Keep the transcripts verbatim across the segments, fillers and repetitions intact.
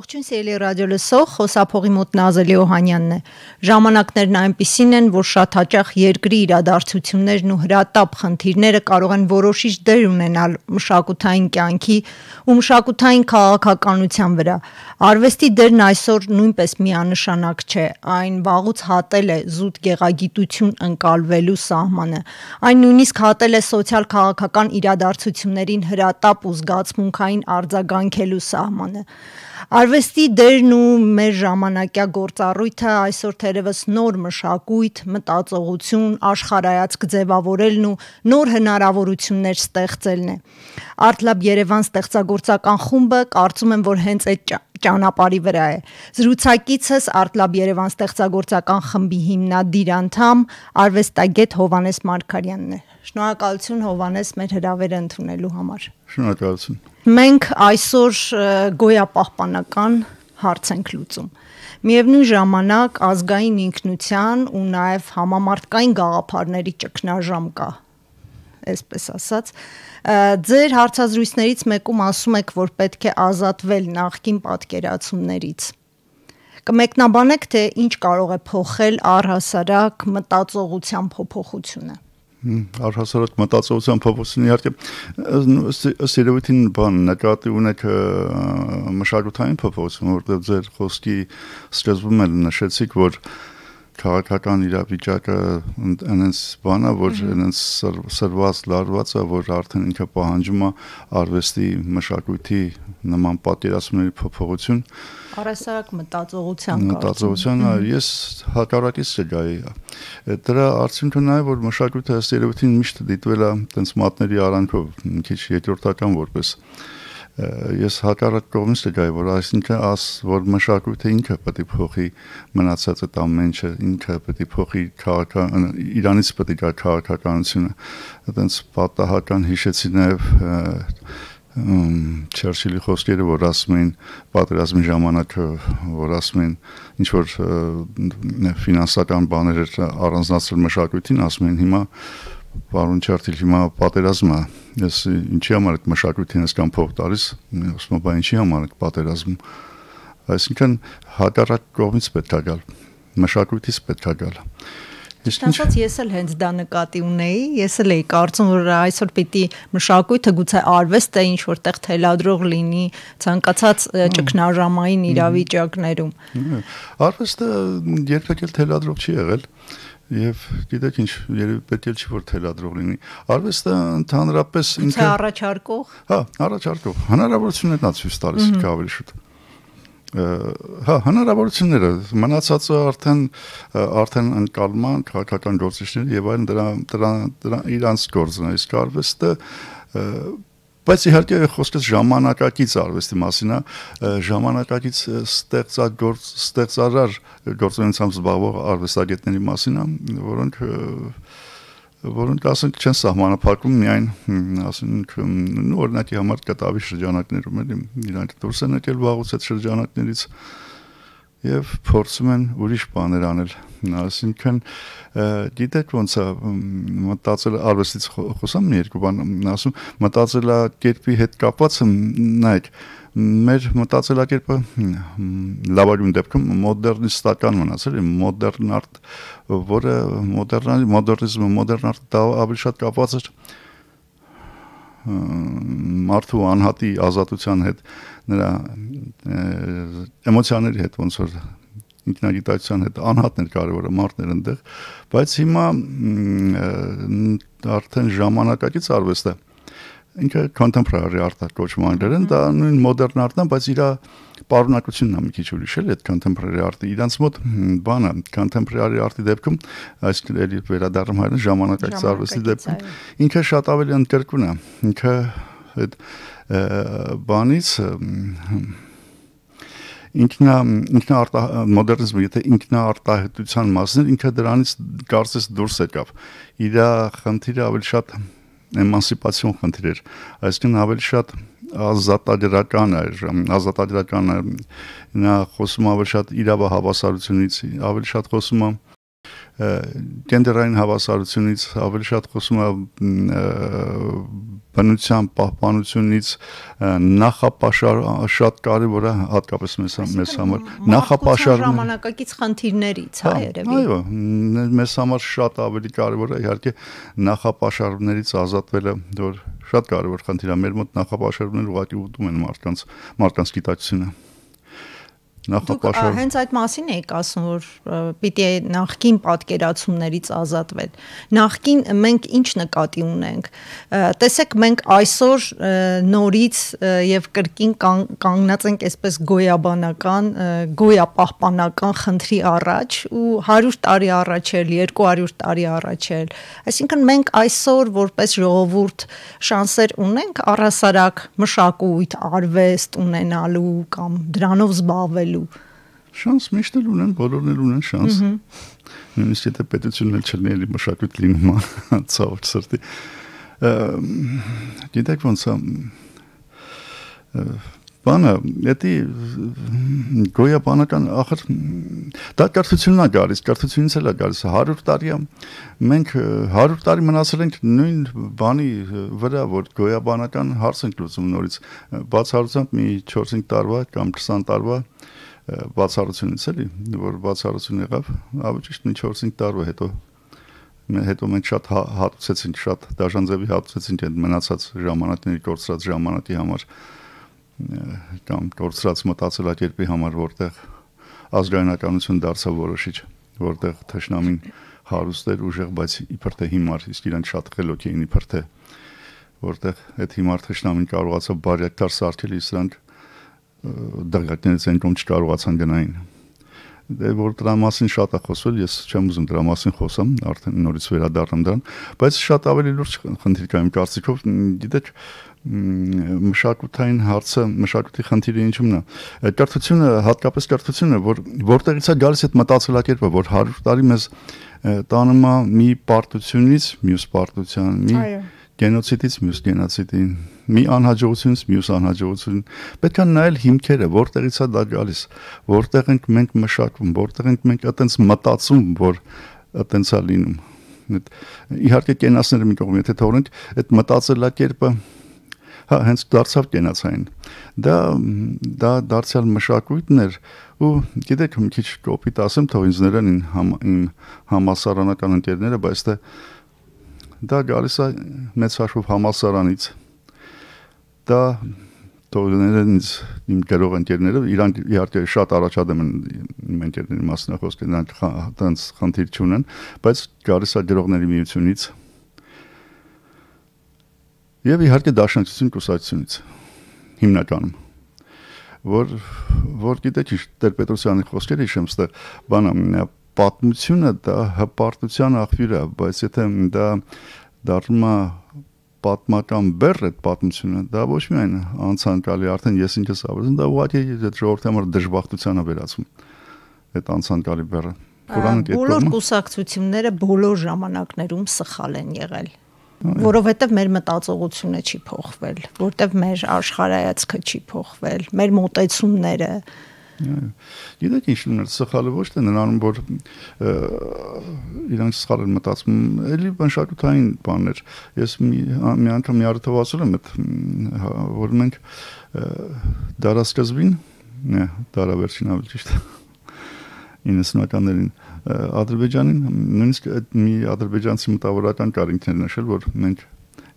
Ողջույն սիրելի ռադիո լսող, խոսափողի մոտ Նազելի Օհանյանն է։ Ժամանակներն այնպիսին են, որ շատ հաճախ երկրի իրադարձություններն ու հրատապ խնդիրները կարող են որոշիչ դեր ունենալ մշակութային կյանքի ու մշակութային քաղաքականության վրա։ Արվեստի դերն այսօր նույնպես միանշանակ չէ, այն վաղուց հատել է զուտ գեղագիտություն ընկալվելու սահմանը։ Այն նույնիսկ հատել է սոցիալ-քաղաքական իրադարձություններին հրատապ ու զգացմունքային արձագանքելու սահմանը։ Արվեստի դերն ու մեր ժամանակյա գործառույթը այսօր թերևս նոր մշակույթ, մտածողություն, աշխարհայացք ձևավորելն ու նոր հնարավորություններ ստեղծելն է։ Artlab Երևան ստեղծագործական խումբը կարծում եմ, որ հենց այդ ճանապարհի վրա է։ Զրուցակիցս Artlab Երևան ստեղծագործական խմբի հիմնադիր անդամ, արվեստագետ Հովհաննես Մարգարյանն է։ Շնորհակալություն Հովհաննես մեր հրավերը ընդունելու համար։ Շնորհակալություն։ Մենք այսօր գոյապահպանական հարց ենք լուծում։ Միևնույն ժամանակ ազգային ինքնության ու նաև համամարտկային գաղափարների ճգնաժամ կա, այսպես ասած։ Ձեր հարցազրույցներից մեկում ասում եք, որ պետք է ազատվել նախկին պատկերացումներից։ Կմեկնաբանեք, թե ինչ կարող է փոխել առհասարակ մտածողության փոփոխությունը։ Առհասարակ մտածողության փոփոխությունը իհարկե ըստ երևույթին բան նկատի ունեք մշակութային փոփոխություն, որտեղ ձեր խոսքի սկզբում էլ նշեցիք, որ քաղաքական իրավիճակը այնպես բան է, որ այնպես սրված լարված է, որ արդեն ինքը պահանջում է արվեստի մշակույթի նման պատկերացումների փոփոխություն։ Առհասարակ մտածողության մտածողության ես հակառակից չգայի։ Դրա արդյունքը նա է, որ մշակույթը ըստ երևույթին միշտ դիտվել է տենց մատների արանքով, մի քիչ երկրորդական որպես ես հակառակ կողմից չգայի, որ այսինքն աս որ մշակույթը ինքը պետք է փոխի մնացած այդ ամեն ինչը, ինքը պետք է փոխի քաղաքական Իրանից պետք է գա քաղաքականությունը, այդպես պատահական հիշեցի նաև Չերչիլի խոսքերը, որ ասում էին պատերազմի ժամանակ, որ ասում էին ինչ որ ֆինանսական բաներ առանձնացրել մշակույթին, ասում էին հիմա Պարոն Չերչիլ, հիմա պատերազմը, ես ինչի համար եք մշակույթին այսքան փող տալիս, ասում եմ, բա ինչի համար եք պատերազմ, այսինքն հակառակ կողմից պետք է գալ, մշակույթից պետք է գալ։ Ճիշտացած ես էլ հենց դա նկատի ունեի, ես էլ էի կարծում, որ այսօր պիտի մշակույթը գուցե արվեստը ինչ որտեղ թելադրող լինի ցանկացած ճգնաժամային իրավիճակներում։ Արվեստը երբեք էլ թելադրող չի եղել։ Եվ գիտեք ինչ, երևի պետք է չի որ թելադրող լինի։ Արվեստը ընդհանրապես ինքը առաջարկող։ Հա, առաջարկող։ Հնարավորություններն է ցույց տալիս ավելի շուտ։ Հա, հնարավորությունները մնացածը արդեն արդեն ընկալման քաղաքական գործիչների եւ այլն դրա դրա դրա իրանց գործն է, իսկ արվեստը բայց իհարկե խոսքս ժամանակակից արվեստի մասին է, ժամանակակից ստեղծագործ ստեղծարար գործունեությամբ զբաղվող արվեստագետների մասին է, որոնք որոնք ասենք չեն սահմանափակում միայն ասենք օրինակի համար կտավի շրջանակներում էլի իրանք դուրս են եկել վաղուց այդ շրջանակներից եւ փորձում են ուրիշ բաներ անել, ասինքն գիտեք ոնց է մտածել արվեստից խոսամ մի երկու բան ասում մտածելակերպի հետ կապված նայեք մեր մտածելակերպը լավագույն դեպքում մոդեռնիստական մնացել է մոդեռն արտ որը մոդեռնի մոդեռնիզմը մոդեռն արտը ավելի շատ կապված է մարդու անհատի ազատության հետ նրա էմոցիաների հետ ոնց որ ինքնագիտակցության հետ անհատներ կարևորը մարդներ այնտեղ բայց հիմա արդեն ժամանակակից արվեստը ինքը contemporary art-ը կոչվում անգլերեն դա նույն modern art-ն է բայց իր պարունակությունն է մի քիչ ուրիշ էլ այդ contemporary art-ը իրանց մոտ բանը contemporary art-ի դեպքում այսինքն էլի վերադառնում հայերեն ժամանակակից արվեստի դեպքում ինքը շատ ավելի ընդգրկուն է ինքը այդ բանից ինքնա ինքնա մոդեռնիզմը եթե ինքնաարտահայտության մասն է ինքը դրանից կարծես դուրս եկավ իր խնդիրը ավելի շատ էմանսիպացիոն խնդիր էր այսինքն ավելի շատ ազատագրական էր ազատագրական նա խոսում ավելի շատ իրավահավասարությունից ավելի շատ խոսում գենդերային հավասարությունից, ավելի շատ խոսում է բնության պահպանությունից, նախապաշար շատ կարևոր է հատկապես մեզ մեզ համար նախապաշար ժամանակակից խնդիրներից հա երևի այո մեզ համար շատ ավելի կարևոր է իհարկե նախապաշարներից ազատվելը որ շատ կարևոր խնդիր է մեր մոտ նախապաշարները ուղղակի ուտում են մարդկանց մարդկանց գիտակցությունը Նախապաշար հենց այդ մասին եք ասում որ պիտի նախքին պատկերացումներից ազատվել նախքին մենք ինչ նկատի ունենք տեսեք մենք այսօր նորից եւ կրկին կանգնած ենք այսպես գոյաբանական գոյապահպանական խնդրի առաջ ու հարյուր տարի առաջ էլ երկու հարյուր տարի առաջ էլ այսինքն մենք այսօր որպես ժողովուրդ շանսեր ունենք առհասարակ մշակույթ արվեստ ունենալու կամ դրանով զբաղվել Շանս միշտ էլ ունեն, բոլորն էլ ունեն շանս։ Նույնիսկ եթե պետությունն էլ չլինի, էլի մշակույթ լինում է, ցավոք սրտի։ Գիտեք ոնց է բանը, դա գոյաբանական ախր դա կրթությունն է գալիս, կրթությունից էլ է գալիս հարյուր տարի է։ Մենք հարյուր տարի մնացել ենք նույն բանի վրա, որ գոյաբանական հարց ենք լուծում նորից։ Բացառությամբ մի չորս-հինգ տարվա կամ քսան տարվա բացառությունից էլի, որ բացառություն եղավ, ավելի ճիշտ մի չորս-հինգ տարվա հետո հետո մենք շատ հատուցեցինք, շատ դաշնձևի հատուցեցինք այդ մնացած ժամանակների կորցրած ժամանակի համար կամ կորցրած մտածելակերպի համար, որտեղ ազգայնականություն դարձավ որոշիչ, որտեղ թշնամին հարուստ էր ուժեղ, բայց իբր թե հիմար, իսկ իրանք շատ խելոք էին իբր թե, որտեղ այդ հիմար թշնամին կարողացավ բարյակտար սարքել, իսկ նրանք դրգակներից են կոմ չկարողացան գնային։ Դե որ դրա մասին շատ է խոսվել, ես չեմ ուզում դրա մասին խոսամ, արդեն նորից վերադառնամ դրան, բայց շատ ավելի լուրջ խնդիր կա իմ կարծիքով, գիտեք, մշակութային հարցը, մշակույթի խնդիրը ինչումն է։ Կրթությունը, հատկապես կրթությունը, որ որտեղից է գալիս այդ մտածելակերպը, որ հարյուր տարի մեզ տանում է մի պարտությունից մյուս պարտության, մի գենոցիդից մյուս գենոցիդին, մի անհաջողությունից մյուս անհաջողություն։ Պետք է նայել հիմքերը, որտեղից է դա գալիս, որտեղ ենք մենք մշակվում, որտեղ ենք մենք այտենց մտածում, որ այտենց է լինում։ Իհարկե կենացները մի կողմ, եթե թողնենք, այդ մտածելակերպը հա հենց դարձավ կենացային։ Դա դա դարձյալ մշակույթն էր ու գիտեք մի քիչ կոպիտ ասեմ, թող ինձ ներեն իմ համասարանական ընկերները, բայց դա դա գալիս է մեծ հաշվով համալսարանից դա թողներն ինձ իմ գրող ընկերները իրանք իհարկե շատ առաջադեմ են իմ ընկերների մասնախոսքը նրանք տենց խնդիր չունեն բայց գալիս է գրողների միությունից եւ իհարկե դաշնակցություն կուսակցությունից հիմնականում որ որ գիտեք ինչ Տեր-Պետրոսյանի խոսքերը հիշեմ ստեղ բանը պատմությունը դա հպարտության աղբյուր է, բայց եթե դա դառնում է պատմական բեռ այդ պատմությունը, դա ոչ միայն անցանկալի, արդեն ես ինքս ավելին, դա ուղղակի այդ ժողովրդի համար դժբախտության է վերածում այդ անցանկալի բեռը։ Բոլոր կուսակցությունները բոլոր ժամանակներում սխալ են եղել, որովհետև մեր մտածողությունը չի փոխվել, որովհետև մեր աշխարհայացքը չի փոխվել, մեր մոտեցումները Գիտեք ինչ ուներ սխալը ոչ թե նրանում որ իրանք սխալ են մտածում էլի մշակութային բաներ ես մի մի անգամ մի առիթով ասել եմ որ մենք դարասկզբին նե դարավերջին ավելի ճիշտ իննսունականներին Ադրբեջանին նույնիսկ մի ադրբեջանցի մտավորական կար ինքներ նշել որ մենք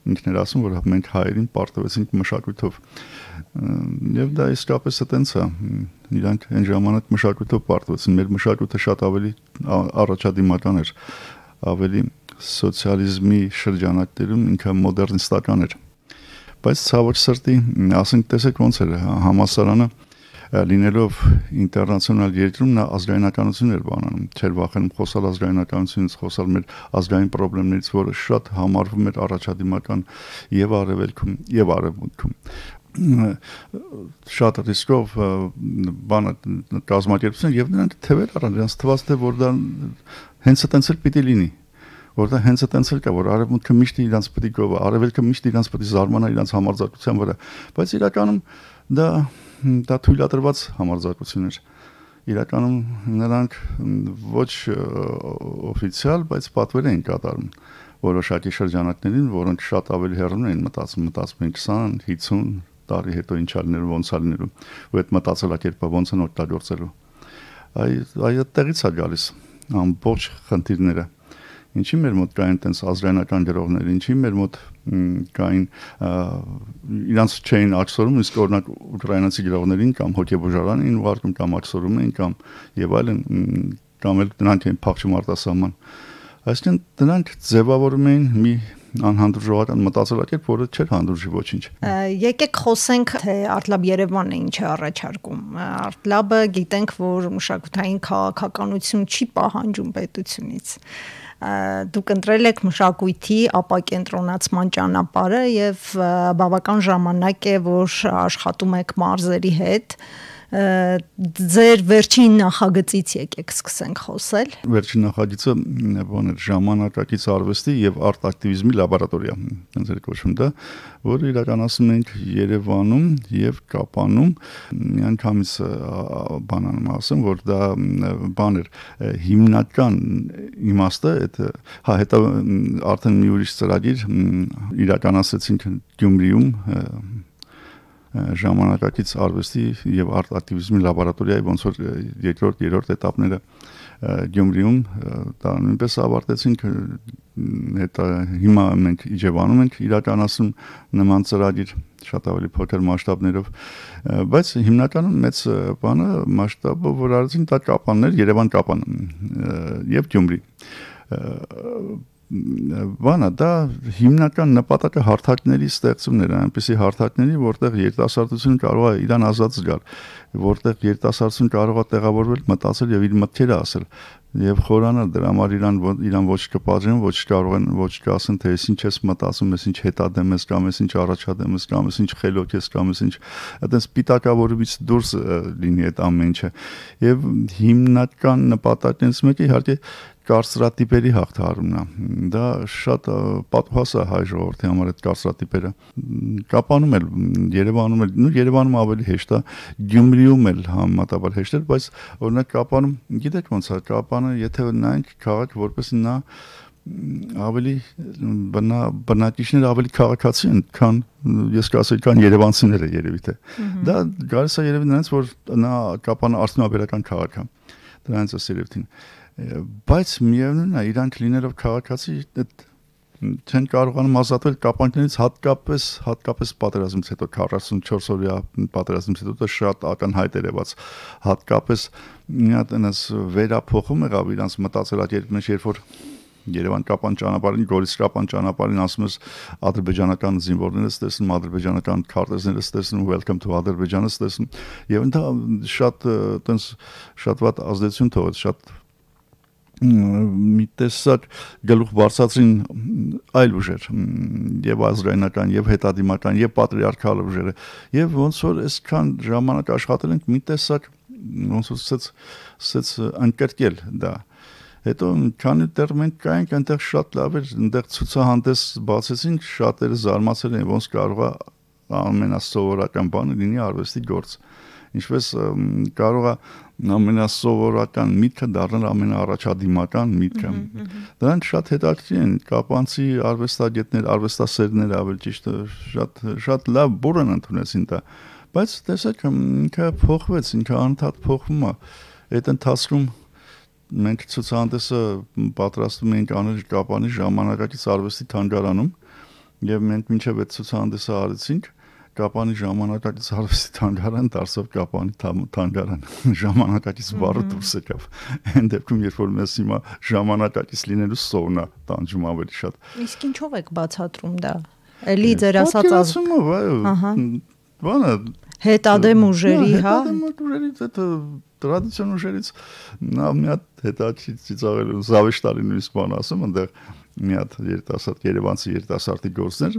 ինքներ ասում որ մենք հայերին պարտվեցինք մշակույթով եւ դա իսկապես այտենց է իրանք այն ժամանակ մշակույթով պարտվեցին մեր մշակույթը շատ ավելի առաջադիմական էր ավելի սոցիալիզմի շրջանակներում ինքը մոդեռնիստական էր բայց ցավոք սրտի ասենք տեսեք ոնց էր համասարանը լինելով ինտերնացիոնալ երկրում նա ազգայնականություն էր բանանում չէր վախենում խոսալ ազգայնականությունից խոսալ մեր ազգային խնդիրներից որը շատ համարվում էր առաջադիմական եւ արևելքում եւ արևմուտքում շատ ռիսկով բանը կազմակերպություն եւ նրանք թվեր առան նրանց թվաց թե որ դա հենց այտենց էլ պիտի լինի որտեղ հենց այտենց էլ կա որ արևմուտքը միշտ իրանց պիտի գովա արևելքը միշտ իրանց պիտի զարմանա իրանց համարձակության վրա բայց իրականում դա դա թույլատրված համարձակություն էր իրականում նրանք ոչ օֆիցիալ, բայց պատվեր էին կատարում որոշակի շրջանակներին, որոնք շատ ավելի հեռուն էին մտածում, մտածում էին քսան, հինգ տարի հետո ինչ ալներու, ոնց ալներու, ու այդ մտածելակերպը ոնց են օգտագործելու։ Այ այդ տեղից է գալիս ամբողջ խնդիրները։ Ինչի մեր մոտ կային տենց ազգայնական գրողներ, ինչի մեր մոտ կային իրանց չէին աջսորում, իսկ օրինակ ուկրաինացի գրողներին կամ հոգեբուժարան էին ուղարկում կամ աջսորում էին կամ եւ այլն, կամ էլ դրանք էին փախչում արտասահման։ Այսինքն դրանք ձևավորում էին մի անհանդուրժողական մտածելակերպ, որը չէր հանդուրժի ոչինչ։ Եկեք խոսենք, թե Արտլաբ Երևանը ինչ է առաջարկում։ Արտլաբը գիտենք, որ մշակութային քաղաքականություն չի պահանջում պետությունից։ Դուք ընտրել եք մշակույթի ապակենտրոնացման ճանապարհը եւ բավական ժամանակ է, որ աշխատում եք մարզերի հետ։ Ձեր վերջին նախագծից եկեք սկսենք խոսել։ Վերջին նախագիծը բան էր ժամանակակից արվեստի եւ արտ-ակտիվիզմի լաբորատորիա, այնպես էր կոչվում դա, որը իրականացնում ենք Երևանում եւ Կապանում։ Միանգամից բանանում ասեմ, որ դա բան էր հիմնական իմաստը, այդ հա հետո արդեն մի ուրիշ ծրագիր իրականացրեցինք Գյումրիում ժամանակակից արվեստի եւ արտ-ակտիվիզմի լաբորատորիայի ոնց որ երկրորդ, երրորդ этаպները Գյումրիում դա նույնպես ավարտեցինք, հետո հիմա մենք Իջևանում ենք իրականացնում նման ծրագիր շատ ավելի փոքր մասշտաբներով, բայց հիմնականում մեծ բանը մասշտաբը որ արեցին դա Կապաններ, Երևան Կապան եւ Գյումրի։ Բանը դա հիմնական նպատակը հարթակների ստեղծումն էր, այնպիսի հարթակների, որտեղ երիտասարդությունը կարող է իրան ազատ զգալ, որտեղ երիտասարդությունը կարող է տեղավորվել, մտածել եւ իր մտքերը ասել եւ խորանալ դրա համար իրան իրան ոչ կպատժեն, ոչ կարող են ոչ կասեն թե ես ինչ ես մտածում, ես ինչ հետադեմ ես կամ ես ինչ առաջադեմ ես կամ ես ինչ խելոք ես կամ ես ինչ այդպես պիտակավորումից դուրս լինի այդ ամեն ինչը եւ հիմնական նպատակներից մեկը իհարկե կարծրատիպերի հաղթահարումն է։ Դա շատ պատահած է հայ ժողովրդի համար այդ կարծրատիպերը։ Կապանում էլ, Երևանում էլ, նույն Երևանում ավելի հեշտ է, Գյումրիում էլ համեմատաբար հեշտ է, բայց օրինակ Կապանում, գիտեք ոնց է, Կապանը, եթե նայենք քաղաք, որպեսզի նա ավելի բնա բնակիչները ավելի քաղաքացի են, քան ես կասեի, քան երևանցիները երևի թե։ Դա գալիս է երևի նրանց, որ նա Կապանը արդյունաբերական քաղաք է։ Դրանից է երևին։ Բայց միևնույնն է, իրանք լինելով քաղաքացի չեն կարողանում ազատվել կապանքներից, հատկապես հատկապես պատերազմից հետո քառասունչորս օրյա պատերազմից հետո դա շատ ակնհայտ էր եղած, հատկապես մի հատ այնպես վերափոխում եղավ իրանց մտածելակերպի մեջ, երբ որ Երևան-Կապան ճանապարհին, Գորիս-Կապան ճանապարհին ասում ես ադրբեջանական զինվորները ստեսնում, ադրբեջանական քարտեզները ստեսնում, welcome to Ադրբեջանը ստեսնում, եւ դա շատ այտենց շատ վատ ազդեցություն թողեց, շատ մի տեսակ գլուխ բարձրացրին այլ ուժեր եւ ազգայնական եւ հետադիմական եւ պատրիարքալ ուժերը եւ ոնց որ այսքան ժամանակ աշխատել ենք մի տեսակ ոնց որ ասած ասած անկերկել դա հետո քանի դեռ մենք կայենք այնտեղ շատ լավ էր այնտեղ ցուցահանդես բացեցինք շատերը զարմացել են ոնց կարող է ամենասովորական բանը լինի արվեստի գործ ինչպես կարող է ամենասովորական միտքը դառնալ ամենաառաջադիմական միտքը։ Դրանք շատ հետաքրքիր են, կապանցի արվեստագետներ, արվեստասերներ ավելի ճիշտ շատ շատ լավ բուրըն ընդունեցին դա, բայց տեսեք ինքը փոխվեց, ինքը անընդհատ փոխվում է։ Այդ ընթացքում մենք ցուցահանդեսը պատրաստում էինք անել Կապանի ժամանակակից արվեստի թանգարանում եւ մենք մինչեւ այդ ցուցահանդեսը արեցինք Կապանի ժամանակակից արվեստի թանգարան դարձավ Կապանի թանգարան ժամանակակից բառը դուրս եկավ այն դեպքում երբ որ մեզ հիմա ժամանակակից լինելու սովնա տանջում ավելի շատ իսկ ինչով եք բացատրում դա էլի ձեր ասած ահա բանը հետադեմ ուժերի հա հետադեմ ուժերից այդ տրադիցիոն ուժերից նա մի հատ հետաչի ծիծաղելու զավեշտալի նույնիսկ բան ասում այնտեղ մի հատ երիտասարդ երևանցի երիտասարդի գործներ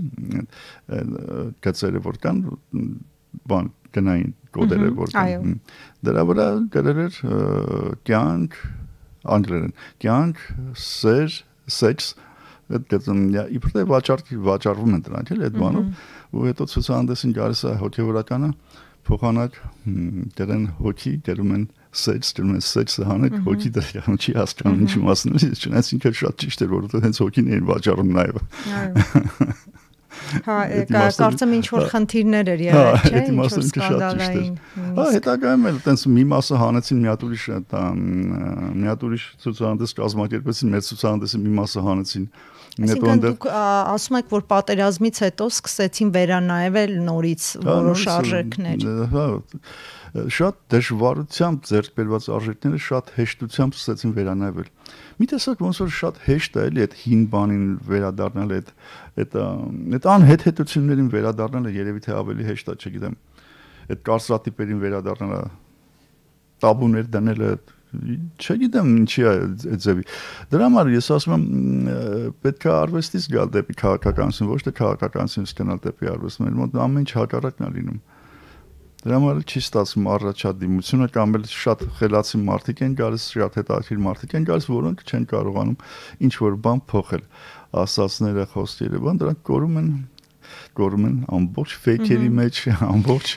գծերը որ կան բան գնային կոդերը որ կան դրա վրա գրել էր կյանք անգլերեն կյանք սեր սեքս այդ գծում իբրե վաճառքի վաճառվում են դրանք էլ այդ բանով ու հետո ցուցահանդեսին գալիս է հոգեվորականը փոխանակ դերեն հոգի դերում են սեքս դրում են սեքսը հանեք հոգի դրան չի հասկանում ինչի մասն է չնայած ինքը շատ ճիշտ էր որովհետեւ հենց հոգին էին վաճառում նաեւ Հա, կարծեմ ինչ որ խնդիրներ էր եղել, չէ՞, ինչ որ սկանդալային։ Հա, հետագայում էլ տենց մի մասը հանեցին մի հատ ուրիշ մի հատ ուրիշ ցուցահանդես կազմակերպեցին, մեր ցուցահանդեսի մի մասը հանեցին։ Այսինքն դուք ասում եք, որ պատերազմից հետո սկսեցին վերանայվել նորից որոշ արժեքներ։ Հա, շատ դժվարությամբ ձեռք բերված արժեքները շատ հեշտությամբ սկսեցին վերանայվել։ Մի տեսակ ոնց որ շատ հեշտ է էլի այդ հին բանին վերադառնալ, այդ այդ այդ անհեթեթություններին վերադառնալը երևի թե ավելի հեշտ է, չգիտեմ։ Այդ կարծրատիպերին վերադառնալը, տաբուներ դնելը, չգիտեմ ինչի է այդ ձևի։ Դրա համար ես ասում եմ պետք է արվեստից գալ դեպի քաղաքականություն, ոչ թե քաղաքականությունից գնալ դեպի արվեստ, մեր մոտ ամեն ինչ հակառակն է լինում։ Դրա համար չի ստացվում առաջադիմությունը կամ էլ շատ խելացի մարդիկ են գալիս, շատ հետաքրքիր մարդիկ են գալիս, որոնք չեն կարողանում ինչ որ բան փոխել։ Ասածները, խոսքերը, բան դրանք կորում են կորում են ամբողջ ֆեյքերի մեջ, ամբողջ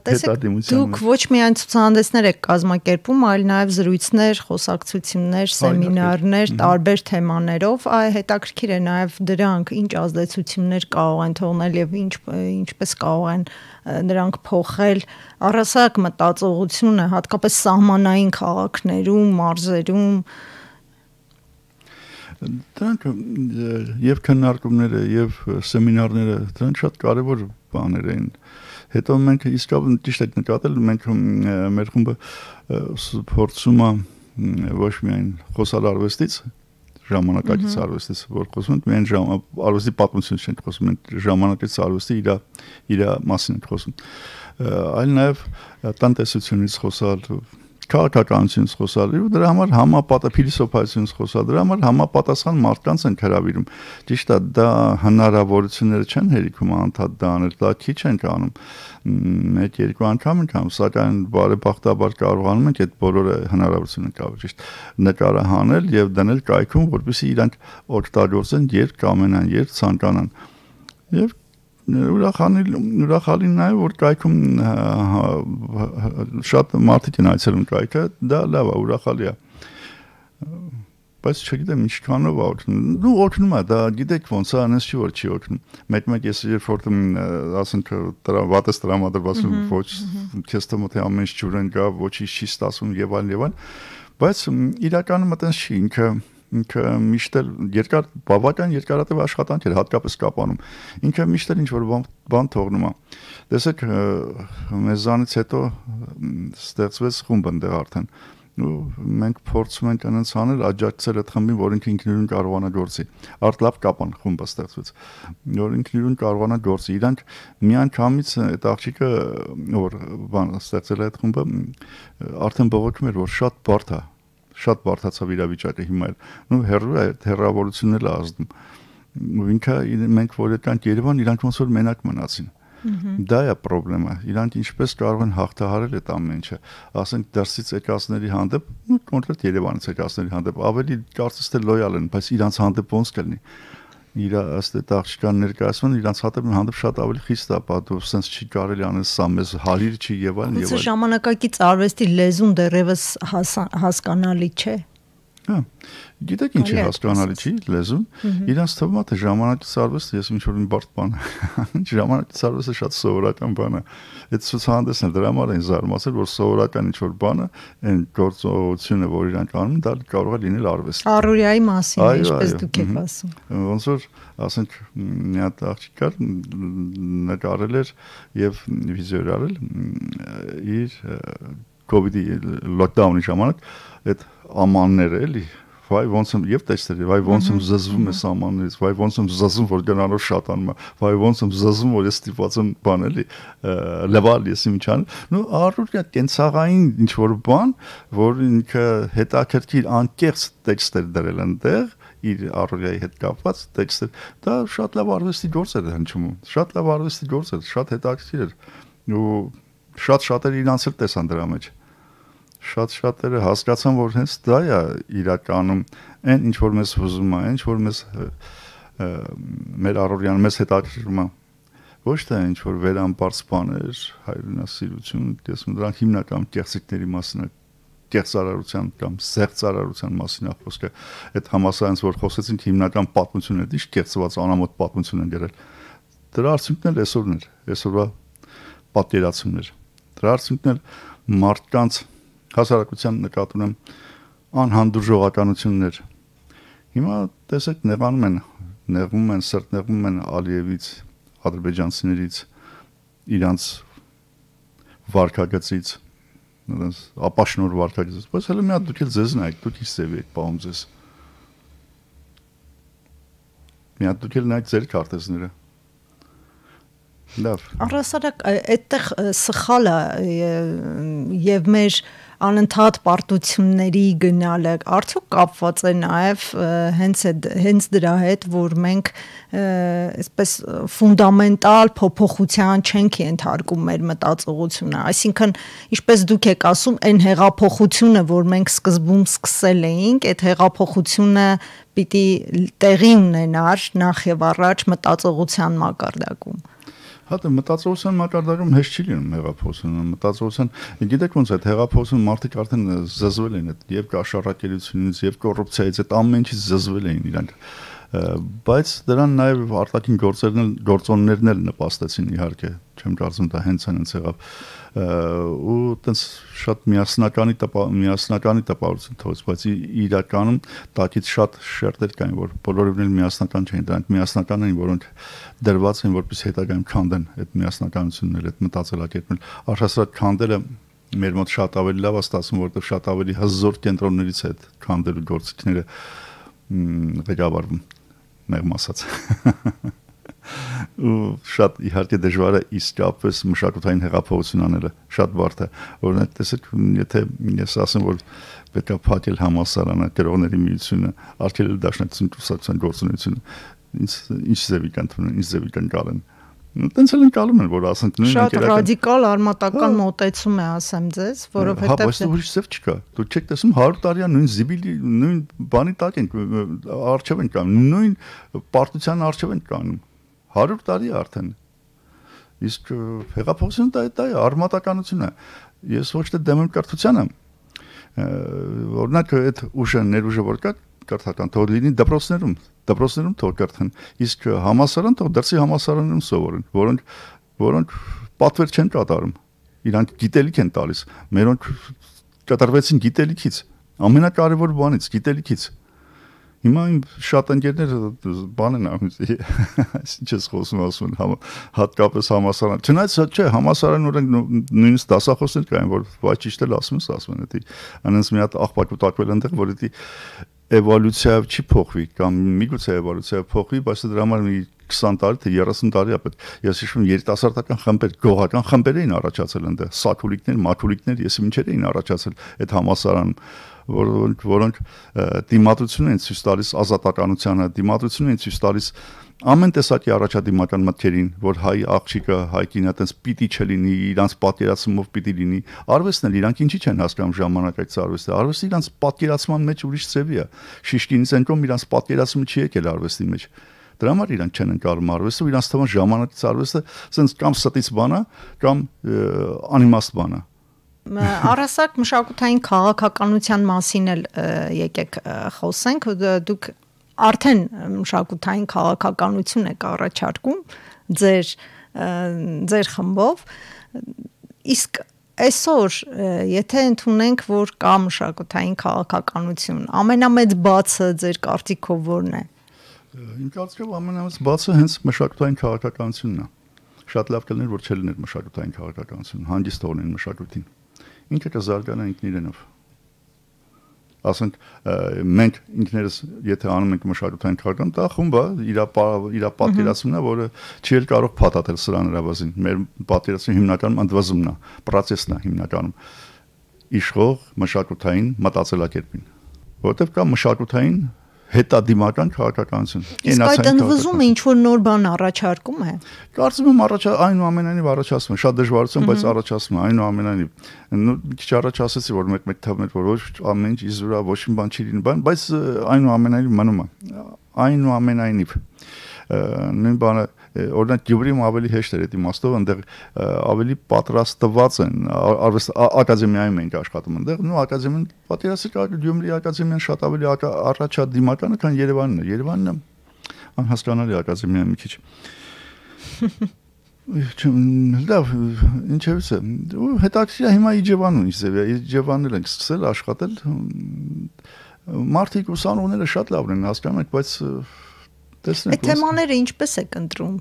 հետադիմության։ Դուք ոչ միայն ցուցահանդեսներ եք կազմակերպում, այլ նաև զրույցներ, խոսակցություններ, սեմինարներ տարբեր թեմաներով, այ հետաքրքիր է նաև դրանք ինչ ազդեցություններ կարող են թողնել եւ ինչ ինչպես կարող են նրանք փոխել առասարակ մտածողությունը, հատկապես սահմանային քաղաքներում, մարզերում։ Դրանք եւ քննարկումները եւ սեմինարները դրանք շատ կարեւոր բաներ են։ Հետո մենք իսկապես ճիշտ եք նկատել, մենք մեր խումբը փորձում է ոչ միայն խոսալ արվեստից, ժամանակակից արվեստից, որ խոսում ենք, միայն արվեստի պատմությունից չենք խոսում, մենք ժամանակակից արվեստի իր իր մասին ենք խոսում, այլ նաեւ տնտեսությունից խոսալ, քաղաքականությունից խոսալ, դրա համար համապատասխան փիլիսոփայությունից խոսալ, դրա համար համապատասխան մարդկանց են հրավիրում։ Ճիշտ է, դա հնարավորությունները չեն հերիքում անդադ դա անել, դա քիչ են անում։ Մեկ երկու անգամ ենք անում, սակայն բարեբախտաբար կարողանում ենք այդ բոլորը հնարավորությունը կապել, ճիշտ նկարը հանել եւ դնել կայքում, որպեսզի իրանք օգտագործեն երբ կամենան, երբ ցանկանան։ Եվ ուրախալին ուրախալին նաև որ կայքում շատ մարդիկ են այցելում կայքը, դա լավ է, ուրախալի է։ Բայց չգիտեմ ինչքանով է օգնում։ Դու օգնում է, դա գիտեք ոնց է, այնպես չի որ չի օգնում։ Մեկ-մեկ ես երբ որ ասենք դրա վատես տրամադրված ոչ քեզ թվում է ամեն ինչ ջուրեն գա, ոչինչ չի ստացվում եւ այլն եւ այլն, բայց իրականում այտենց չի, ինքը ինքը միշտ էլ երկար բավական երկարատև աշխատանք էր հատկապես կապանում ինքը միշտ էլ ինչ որ բան թողնում է տեսեք մեզանից հետո ստեղծվեց խումբ ընդեղ արդեն ու մենք փորձում ենք անց անել աջակցել այդ խմբին որ ինքը ինքնուրույն կարողանա գործի արդ լավ կապան խումբը ստեղծվեց որ ինքնուրույն կարողանա գործի իրանք միանգամից այդ աղջիկը որ բան ստեղծել է այդ խումբը արդեն բողոքում էր որ շատ բարդ է շատ բարդացավ իրավիճակը հիմա էլ նու հերրու է հերավորությունն էլ ազդում ու ինքը մենք որ եկանք Երևան իրանք ոնց որ մենակ մնացին դա է խնդրեմը իրանք ինչպես կարող են հաղթահարել այդ ամեն ինչը ասենք դրսից եկածների հանդեպ կոնկրետ Երևանից եկածների հանդեպ ավելի կարծես թե լոյալ են բայց իրանք հանդեպ ոնց կլինի իր ըստ այդ աղջկան ներկայացման իրանք հանդեպ հանդեպ շատ ավելի խիստ է պատու sense չի կարելի անել սա մեզ հարիր չի եւ այլն եւ այլն ժամանակակից արվեստի լեզուն դեռևս հասկանալի չէ Հա գիտեք ինչ է հասկանալի չի լեզուն իրանց թվում է թե ժամանակից արվեստը ես ինչ որ մի բարդ բան ժամանակից արվեստը շատ սովորական բան է այդ ցուցահանդեսն դրա համար են զարմացել որ սովորական ինչ որ բանը այն գործողությունը որ իրանք անում դա կարող է լինել արվեստ առօրյայի մասին ինչպես դուք եք ասում ոնց որ ասենք մի հատ աղջիկ կար նկարել էր եւ վիդեո արել իր կոവിഡ്ի լոկդաունի ժամանակ այդ ամանները էլի վայ ոնց եմ եւ տեսել վայ ոնց եմ զզվում ես ամաններից վայ ոնց եմ զզվում որ գնալով շատանում վայ ոնց եմ զզվում որ ես ստիպված եմ բան էլի լեվալ ես ինչան նու առօրյա կենցաղային ինչ որ բան որ ինքը հետաքրքիր անկեղծ տեքստեր դրել այնտեղ իր առօրյայի հետ կապված տեքստեր դա շատ լավ արվեստի գործ էր հնչում շատ լավ արվեստի գործ էր շատ հետաքրքիր էր ու շատ շատերը իրանց էլ տեսան դրա մեջ շատ շատերը հասկացան որ հենց դա է իրականում այն ինչ որ մեզ հուզում է ինչ որ մեզ մեր առօրյան մեզ հետաքրքրում է ոչ թե ինչ որ վերամբարձ բաներ հայրենասիրություն տեսնում դրանք հիմնական կեղծիքների մասն է կեղծարարության կամ զեղծարարության մասին է խոսքը։ Այդ համասարանից որ խոսեցինք հիմնական պատմությունն է, ինչ կեղծված անամոթ պատմություն են գրել։ Դրա արդյունքն էլ այսօրն էր, այսօրվա պատկերացումներ։ Դրա արդյունքն էլ մարդկանց հասարակության նկատի ունեմ անհանդուրժողականություններ։ Հիմա տեսեք նեղանում են, նեղվում են, սրտնեղվում են Ալիևից, ադրբեջանցիներից, իրանց վարկագծից, նրանց ապաշնոր վարկագծից, բայց հələ մի հատ դուք էլ ձեզ նայեք, դուք ինչ սեվի եք պահում ձեզ։ Մի հատ դուք էլ նայեք ձեր քարտեզները։ Լավ։ Առասարակ այդտեղ սխալը եւ մեր անընդհատ պարտությունների գնալը արդյոք կապված է նաև հենց հենց դրա հետ, որ մենք այսպես ֆունդամենտալ փոփոխության չենք ենթարկում մեր մտածողությունը, այսինքն ինչպես դուք եք ասում, այն հեղափոխությունը, որ մենք սկզբում սկսել էինք, այդ հեղափոխությունը պիտի տեղի ունենար նախ եւ առաջ մտածողության մակարդակում։ Հա դե մտածողության մակարդակում հեշտ չի լինում հեղափոխությունը, մտածողության, գիտեք ոնց է հեղափոխությունը մարդիկ արդեն զզվել են այդ եւ կաշառակերությունից եւ կոռուպցիայից այդ ամեն ինչից զզվել էին իրանք, բայց դրան նաեւ արտաքին գործերն էլ գործոններն էլ նպաստեցին իհարկե, չեմ կարծում դա հենց հենց եղավ ու տենց շատ միասնականի միասնականի տպավորություն թողեց, բայց իրականում տակից շատ շերտեր կային, որ բոլորովին էլ միասնական չէին, դրանք միասնական էին, որոնք դրված են որպես հետագայում քանդեն այդ միասնականությունները, այդ մտածելակերպն էլ առհասարակ քանդելը մեր մոտ շատ ավելի լավ է ստացվում, որովհետև շատ ավելի հզոր կենտրոններից է այդ քանդելու գործիքները ղեկավարվում, մեղմ ասած ու շատ իհարկե դժվար է իսկապես մշակութային հեղափոխություն անելը, շատ բարդ է, օրինակ տեսեք, եթե ես ասեմ, որ պետք է փակել համալսարանը, գրողների միությունը, արգելել դաշնակցություն կուսակցության գործունեությունը, ինչ ձևի կան թվում, ինչ ձևի կան գալեն։ Տենց էլ ընկալում են, որ ասենք նույն շատ ռադիկալ արմատական մոտեցում է, ասեմ ձեզ, որովհետև հա, բայց ուրիշ ձև չկա։ Դուք չեք տեսնում հարյուր տարի նույն զիբիլի, նույն բանի տակ են, արժև են կանում, նույն պարտության արժև են կանում։ հարյուր տարի արդեն։ Իսկ հեղափոխությունը դա դա է, արմատականություն է։ Ես ոչ թե դեմ եմ կրթությանը, օրինակ այդ ուժը, ներուժը որ կա, կրթական թող լինի դպրոցներում, դպրոցներում թող կրթեն, իսկ համալսարան թող դրսի համալսարաններում սովորեն, որոնք որոնք պատվեր չեն կատարում, իրանք գիտելիք են տալիս, մերոնք կատարվեցին գիտելիքից, ամենակարևոր բանից, գիտելիքից։ Հիմա իմ շատ ընկերներ բան են անում, ինչ ես խոսում ասում, հատկապես համալսարան, չնայած չէ, համալսարան օրենք նույնիսկ դասախոսներ կային, որ վայ ճիշտ էլ ասում ես, ասում են, դա անոնց մի հատ աղբակ ու տակվել այնտեղ, որ դա էվոլյուցիայով չի փոխվի կամ միգուցե էվոլյուցիայով փոխվի, բայց դրա համար մի քսան տարի թե երեսուն տարի ապետ ես հիշում երիտասարդական խմբեր, գողական խմբեր էին առաջացել այնտեղ, սակուլիկներ, մակուլիկներ, ես ինչեր էին առաջացել այդ համալսարանում, որոնք որոնք դիմադրություն են ցույց տալիս ազատականությանը, դիմադրություն են ցույց տալիս ամեն տեսակի առաջադիմական մտքերին, որ հայ աղջիկը, հայ կինը այտենց պիտի չլինի, իրանց պատկերացումով պիտի լինի։ Արվեստն էլ իրանք ինչի չեն հասկանում ժամանակակից արվեստը։ Արվեստը իրանց պատկերացման մեջ ուրիշ ձևի է։ Շիշկինից ենկոմ իրանց պատկերացումը չի եկել արվեստի մեջ։ Դրա համար իրանք չեն ընկալում արվեստը, ու իրանց թվում ժամանակից արվեստը ասենց կամ ստից բան է, կամ անիմաստ բան է։ Առասարակ մշակութային քաղաքականության մասին էլ եկեք խոսենք, դուք արդեն մշակութային քաղաքականություն եք առաջարկում ձեր ձեր խմբով, իսկ այսօր եթե ընդունենք, որ կա մշակութային քաղաքականություն, ամենամեծ բացը ձեր կարծիքով որն է։ Իմ կարծիքով ամենամեծ բացը հենց մշակութային քաղաքականությունն է։ Շատ լավ կլիներ, որ չլիներ մշակութային քաղաքականություն, հանգիստ թողնեն մշակույթին։ Ինքը կզարգանա ինքն իրենով։ Ասենք մենք ինքներս եթե անում ենք մշակութային քաղաքական, դա խումբը իր իր պատկերացումն է, որը չի էլ կարող փաթաթել սրան հրավազին։ Մեր պատկերացումը հիմնականում ընդվզումն է, պրոցեսն է հիմնականում իշխող մշակութային մտածելակերպին, որովհետև կա մշակութային հետադիմական քաղաքականություն։ Իսկ այդ ընդվզումը ինչ որ նոր բան առաջարկում է։ Կարծում եմ առաջ այնուամենայնիվ առաջացում է, շատ դժվարություն, բայց առաջացում է այնուամենայնիվ։ Մի քիչ առաջ ասացի, որ մեկ-մեկ թվում էր, որ ոչ ամեն ինչ իզուրա ոչ մի բան չի լինի, բայց այնուամենայնիվ մնում է։ Այնուամենայնիվ նույն բանը օրինակ Գյումրիում ավելի հեշտ էր այդ իմաստով, այնտեղ ավելի պատրաստված են արվեստ ակադեմիայում ենք աշխատում այնտեղ, նո ակադեմիան պատերազմի Գյումրի ակադեմիան շատ ավելի առաջադիմականը, քան Երևանն է։ Երևանն է անհասկանալի ակադեմիա մի քիչ։ Լավ, ինչևս է։ Հետաքրքիր է հիմա Իջևանում ինչ ձև է։ Իջևանել ենք սկսել աշխատել։ Մարդիկ ուսանողները շատ լավն են, հասկանում եք, բայց տեսնենք։ Այդ թեմաները ինչպես եք ընտրում։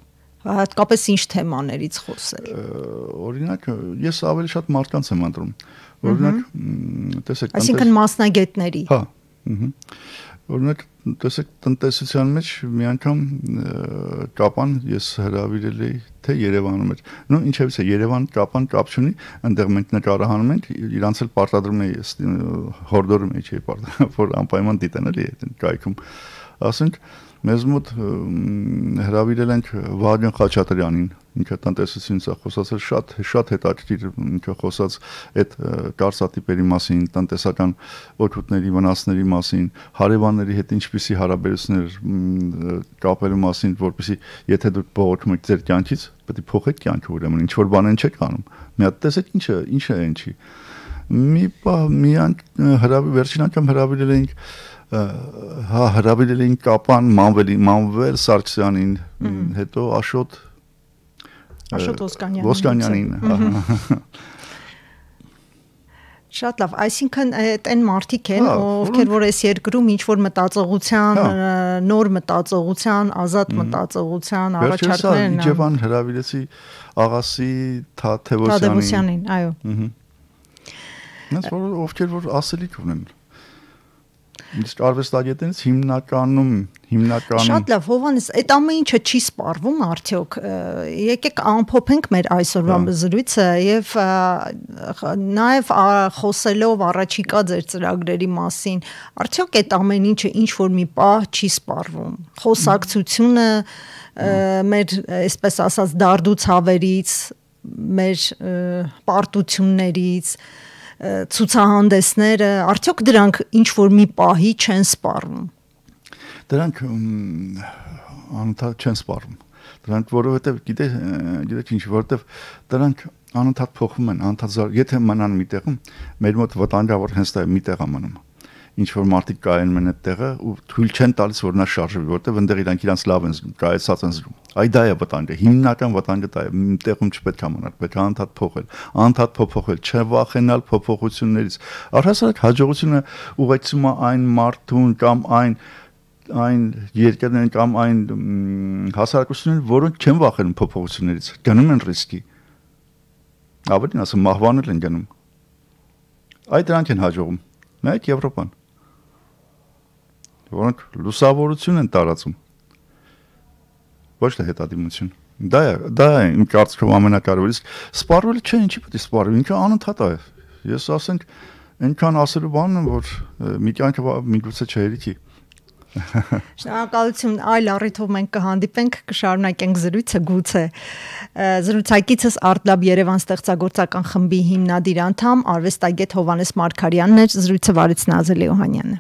Հատկապես ինչ թեմաներից խոսել։ Օրինակ, ես ավելի շատ մարդկանց եմ ընտրում։ Օրինակ, տեսեք, այսինքն մասնագետների։ Հա, ըհը։ Օրինակ, տեսեք, տնտեսության մեջ մի անգամ կապան ես հրավիրել էի թե Երևանում էր։ Նո, ինչևս է, Երևան կապան կապ չունի, այնտեղ մենք նկարահանում ենք, իրանց էլ պարտադրում էի, հորդորում էի, չէի պարտադրում, որ անպայման դիտեն էլի այդ կայքում։ Ասենք, մեզ մոտ հրավիրել ենք Վահագն Խաչատրյանին, ինքը տնտեսությունից է խոսացել, շատ շատ հետաքրքիր ինքը խոսած այդ կարծատիպերի մասին, տնտեսական օգուտների, վնասների մասին, հարևանների հետ ինչպիսի հարաբերություններ կապելու մասին, որպեսզի եթե դուք բողոքում եք ձեր կյանքից, պետք է փոխեք կյանքը, ուրեմն ինչ որ բան են չեք անում։ Մի հատ տեսեք ինչը, ինչը է ինչի։ Մի բա մի հրավիր վերջին անգամ հրավիրել էինք հա հրավիրել էին կապան Մանվելի Մանվել Սարգսյանին, հետո Աշոտ Աշոտ Ոսկանյանին, հա։ Շատ լավ, այսինքն այն մարդիկ են, ովքեր որ այս երկրում ինչ որ մտածողության, նոր մտածողության, ազատ մտածողության առաջարկներ են։ Իջևան հրավիրեցի Աղասի Թադևոսյանին, այո։ Նրանց որ ովքեր որ ասելիք ունեն։ Իսկ արվեստագետներից հիմնականում հիմնականում Շատ լավ, Հովհաննես, այդ ամեն ինչը չի սպառվում արդյոք։ Եկեք ամփոփենք մեր այսօրվա զրույցը եւ նաեւ խոսելով առաջիկա ձեր ծրագրերի մասին, արդյոք այդ ամեն ինչը ինչ որ մի պահ չի սպառվում։ Խոսակցությունը մեր, այսպես ասած, դարդուցավերից, մեր պարտություններից ցուցահանդեսները, արդյոք դրանք ինչ որ մի պահի չեն սպառվում։ Դրանք անընդհատ չեն սպառվում։ Դրանք որովհետև գիտեք, գիտեք ինչ, որովհետև դրանք անընդհատ փոխվում են, անընդհատ եթե մնան մի տեղում, մեր մոտ վտանգա որ հենց դա մի տեղ է մնում։ Ինչ որ մարդիկ կայանում են այդ տեղը ու թույլ չեն տալիս որ նա շարժվի, որովհետև այնտեղ իրանք իրանց լավ են զգում, կայացած են զգում։ Այ դա է վտանգը, հիմնական վտանգը դա է, մի տեղում չպետք է մնալ, պետք է անընդհատ փոխել, անընդհատ փոփոխել, չվախենալ փոփոխություններից։ Առհասարակ հաջողությունը ուղեկցում է այն մարդուն կամ այն այն երկրներն կամ այն հասարակությունները, որոնք չեն վախենում փոփոխություններից, գնում են ռիսկի։ Ավելին ասեմ, մահվանել են գնում։ Այդ դրանք են հաջողում։ Նայեք Եվրոպան, որոնք լուսավորություն են տարածում, ոչ թե հետադիմություն։ Դա է, դա է իմ կարծիքով ամենակարևորը, իսկ սպառվելը չէ, ինչի պետք է սպառվի, ինքը անընդհատ է։ Ես ասենք, այնքան ասելու բան եմ, որ մի կյանքը միգուցե չհերիքի։ Շնորհակալություն, այլ առիթով մենք կհանդիպենք, կշարունակենք զրույցը գուցե։ Զրուցակիցս ArtLab Երևան ստեղծագործական խմբի հիմնադիր անդամ, արվեստագետ Հովհաննես Մարգարյանն էր, զրույցը վարեց Նազելի Օհանյանը։